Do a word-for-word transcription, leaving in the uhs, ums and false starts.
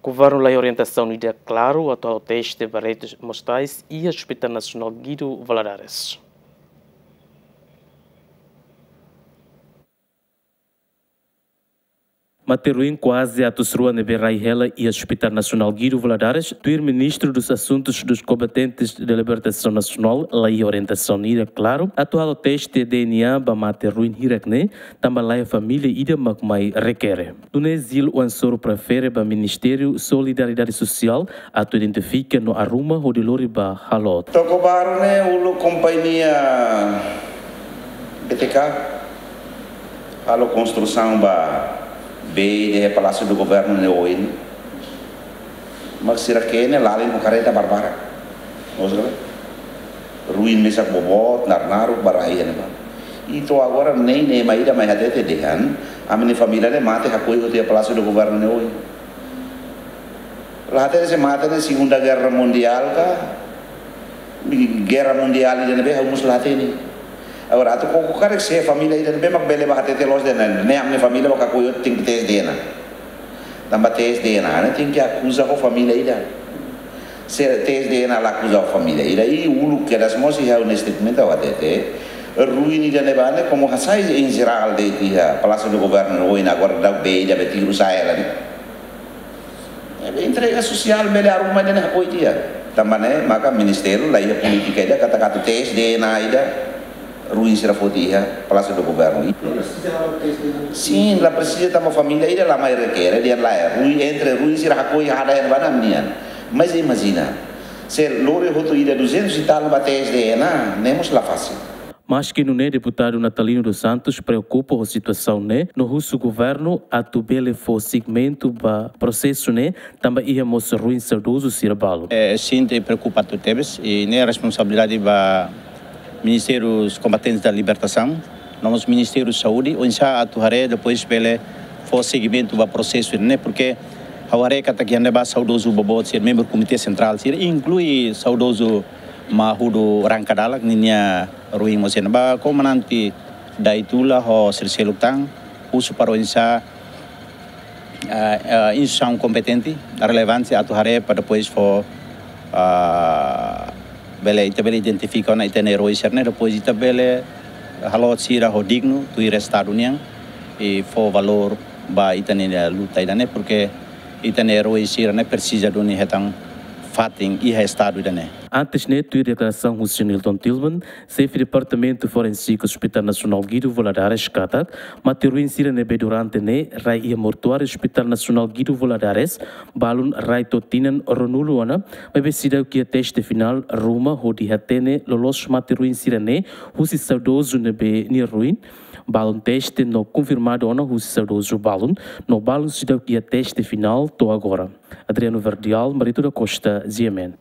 Governu la iha orientasaun ida klaru atu halo teste ba restus mortais iha Hospital Nasionál Guido Valadares. Mate-ruin kuaze atus rua ne'ebé rai hela iha Hospital Nasionál Guido Valadares, tuir Ministru dos Asuntus dos Combatentes da Libertação Nacional, la iha orientasaun ida klaru atu halo teste D N A ba mate-ruin hirak ne'e, tanba la iha família ida mak mai rekere. Nune'e Zil Wansoro prefere ba Ministériu Solidariedade Sosiál atu identifika no arruma hodi lori ba halo. Tokobaru ne'e uluk kompañia B T K halo konstrusaun ba bee iha Palácio do Governo ne'e oin. Mak sira ke'e ne'e lalin ho karreta barbarak. Maksudnya, ruin mesak boboot, naruk-naruk ba rai iha ne'ebá. I to'o agora nein ema ida mai hatete dehan, ami-nia família ne'e mate hakoi hotu iha Palácio do Governo ne'e oin. La hatene se mate ne'e Segunda Guerra Mundial ka, Guerra Mundial ida ne'ebé ha'u mós la hatene. Agora, atu koko karik se família ida ne'ebé mak bele ba hatete loos dehan, ne'e ami-nia família mak hakoi hotu, tenke tes D N A. Tanba tes D N A ne'e tenke akuza ho família ida. Se tes D N A la akuza ho família ida, i uluk kedas mós iha ha'u-nia statement ha'u hatete, ruin ida ne'ebá ne'e komu hasai em geral de'it iha Palácio do Governo oin, agora daudaun bee ida be tiru sa'e hela ne'e. Ne'ebé entrega sosiál bele arruma ida ne'e hakoi tiha. Tanba ne'e maka ministériu la iha polítika ida katak atu tes D N A ida ruin sira foti iha Palácio do Governo. Sin, la presiza tanba família ida la mai rekere, dehan lae, ruin, entre ruin sira hakoi hada iha ne'ebá ne'e ami-nian. Mas imajina, se lori hotu ida duzentos e tal ba tes D N A, ne'e mós la fasil. Maski nune'e, deputadu Natalino dos Santos preokupa ho situasaun ne'e, no husu governu atu bele fó sigimentu ba prosesu ne'e, tanba iha mós ruin saudozu sira balun. Eh, sente preokupadu tebes, i ne'e responsabilidade ba Ministériu Combatentes da Libertação, no mós Ministériu Saúde, oinsá atu haree depois bele fó sigimentu ba prosesu ne'e, porque ha'u haree katak iha ne'ebá saudozu boboot sira, membru Komité Sentrál sira, inklui saudozu Mahudu Rankadalak ninia ruin mós iha ne'ebá, komandante Daitula ho sira seluk tan, husu para oinsá, ah, ah, instituisaun kompetente, relevante atu haree para depois fó, ah, bele, ita bele identifika ona ita-nia eroi sira ne'e, depois ita bele halo sira ho dignu, tuir Estadu nian, i fó valór ba ita-nia luta ida ne'e, porque ita-nia eroi sira ne'e presiza duni hetan fatin iha Estadu ida ne'e. Antes ne'e, tuir deklarasaun husi Nilton Tilman, xefe Departamentu Forensik Hospital Nasionál Guido Valadares katak, mate-ruin sira ne'ebé durante ne'e rai iha mortuáriu Hospital Nasionál Guido Valadares, balun rai to'o tinan ruanulu ona, maibé seidauk iha teste finál ruma hodi hatene loloos mate-ruin sira ne'e husi saudozu ne'ebé nia ruin, balun teste no konfirmadu ona husi saudozu balun, no balun seidauk iha teste finál to'o agora. Adriano Verdial, Marito da Costa, G M N.